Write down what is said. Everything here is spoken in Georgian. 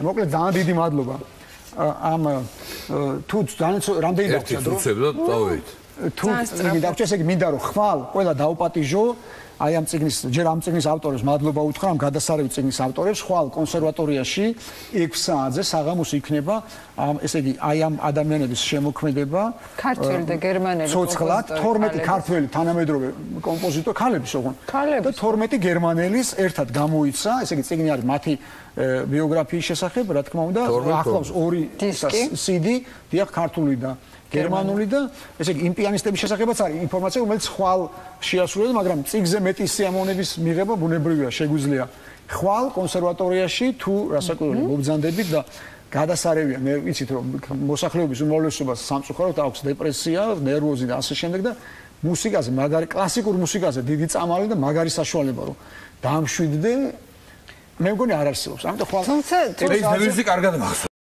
მოკლედ ძალიან დიდი მადლობა ამ თუ ძალიან რამდენი ერთი წუთებდა წავედით თუ მიდავრჩა ესე იგი მინდა რომ ხვალ ყველა დაუპატიჟო აი ამ წიგნის ჯერ ამ წიგნის ავტორებს მადლობა უთხრა ამ გადასარევი წიგნის ავტორებს ხვალ კონსერვატორიაში 6 საათზე საღამოს იქნება ესე იგი აი ამ ადამიანების შემოქმედება ქართველი და გერმანელი ცოცხლად 12 ქართველი თანამედროვე კომპოზიტორი ქალების ოღონდ და 12 გერმანელის ერთად გამოიცა ესე იგი წიგნი არის მათი ბიოგრაფიის შესახებ რა თქმა უნდა ახლავს 2 CD დიახ ქართული და გერმანული და ესე იგი იმ პიანისტების შესახებაც არის ინფორმაცია რომელიც ხვალ შეასრულებს მაგრამ წიგზე მეტი სიამოვნების მიღება ბუნებრივია შეგვიძლია ხვალ კონსერვატორიაში თუ რასაკვირველია მობრძანდებით და გადასარევია მე ვიცით რომ მოსახლეობის უმრავლესობას სამწუხაროდ აქვს დეპრესია ნერვოზი და ასე შემდეგ და მუსიკაზე მაგარი კლასიკურ მუსიკაზე დიდი წამალი და მაგარი საშუალება რომ დაამშვიდდე მე მგონი არ არსებობს ამიტომ ხვალ ეს დევიზი კარგად მახსოვს